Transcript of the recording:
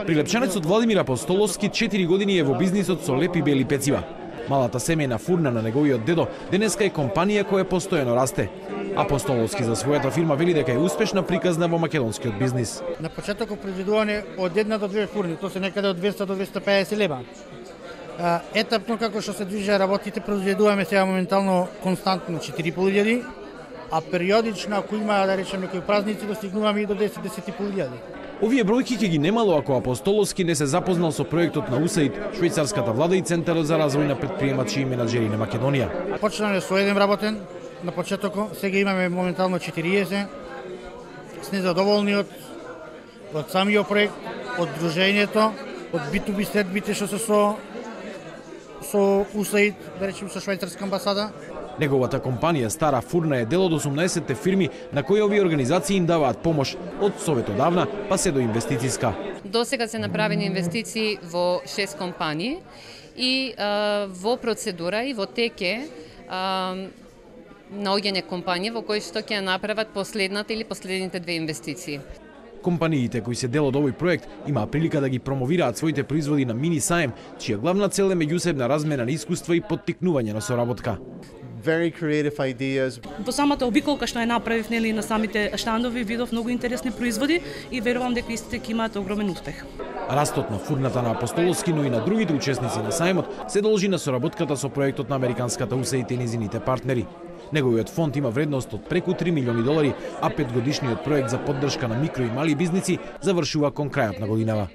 Прилепчанецот Владимир Апостоловски 4 години е во бизнисот со лепи бели пецива. Малата семејна фурна на неговиот дедо денеска е компанија која постојано расте. Апостоловски за својата фирма вели дека е успешна приказна во македонскиот бизнис. На почетокот произведување од 1 до 2 фурни, тоа се некаде од 200 до 250 лева. Етапно како што се движат работите, произведуваме сега моментално константно 4.500, а периодично ако има да речеме некои празници достигнуваме и до 10-10.500. Овие бројки ќе ги немало ако Апостоловски не се запознал со проектот на USAID, швајцарската влада и Центарот за развој на претприемачи и менаџери на Македонија. Почнаме со еден работен на почетокот, сега имаме моментално 40. Сме задоволни од самиот проект, од дружењето, од B2B следбите што се со USAID, да речем со швајцарска амбасада. Неговата компанија Стара фурна е дел од 18 фирми на кои овие организации им даваат помош од советодавна па се до инвестициска. До сега се направени инвестиции во 6 компании и во процедура и во теке наоѓање компании во кои што ќе направат последната или последните 2 инвестиции. Компаниите кои се дел од овој проект имаа прилика да ги промовираат своите производи на мини саем, чија главна цел е меѓусебна размена на искуства и поттикнување на соработка. Very creative ideas. Во самата обиколка што ја направив нели на самите штандови видов многу интересни производи и верувам дека истите ќе имаат огромен успех. Растот на фурната на Апостоловски, но и на другите учесници на сајмот се должи на соработката со проектот на американската USAID и низините партнери. Неговиот фонд има вредност од преку $3 милиони, а 5-годишниот проект за поддршка на микро и мали бизниси завршува кон крајот на годинава.